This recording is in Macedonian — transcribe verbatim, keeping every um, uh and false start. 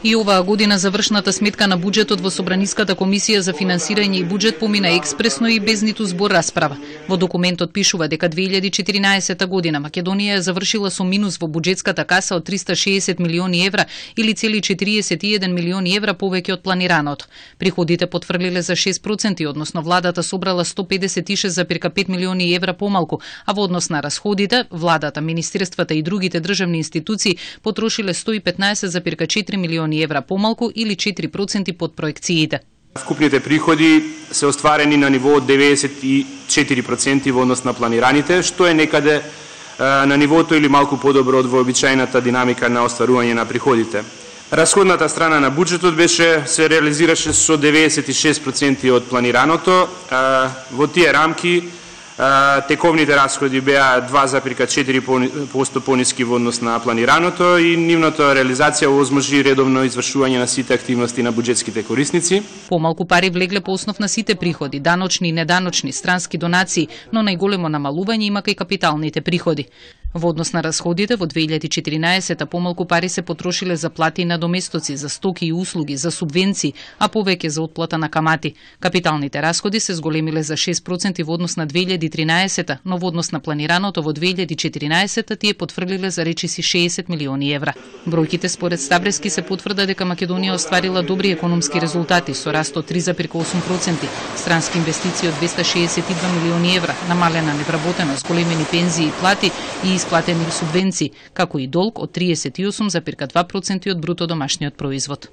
И оваа година завршната сметка на буџетот во Собраниската комисија за финансирање и буџет помина експресно и без ниту збор расправа. Во документот пишува дека две илјади и четиринаесета година Македонија е завршила со минус во буџетската каса од триста и шеесет милиони евра или цели четириесет и еден милиони евра повеќе од планираното. Приходите потврлиле за шест проценти, односно владата собрала сто педесет и шест зарез пет милиони евра помалку, а во однос на расходите, владата, министерствата и другите државни институции потрошиле сто и петнаесет зарез четири милиони евра помалку или четири проценти под проекциите. Вкупните приходи се остварени на ниво од деветдесет и четири проценти во однос на планираните, што е некаде на нивото или малку подобро од вообичаената динамика на остварување на приходите. Расходната страна на буџетот беше се реализираше со деветдесет и шест проценти од планираното. Во тие рамки тековните расходи беа два зарез четири проценти пониски во однос на планираното и нивната реализација овозможи редовно извршување на сите активности на буџетските корисници. Помалку пари влегле по основ на сите приходи, даночни и неданочни, странски донации, но најголемо намалување има кај капиталните приходи. Во однос на расходите, во две илјади и четиринаесета помалку пари се потрошиле за плати и надоместоци, за стоки и услуги, за субвенции, а повеќе за отплата на камати. Капиталните расходи се зголемиле за шест проценти во однос на две илјади и тринаесета, но во однос на планираното во две илјади и четиринаесета тие потврлиле за речиси шеесет милиони евра. Бројките според Стабрески се потврда дека Македонија остварила добри економски резултати со раст од три зарез осум проценти, странски инвестиции од двеста шеесет и два милиони евра, намалена невработеност, големени пензии и плати и исплатени субвенции, како и долг од триесет и осум зарез два проценти од бруто домашниот производ.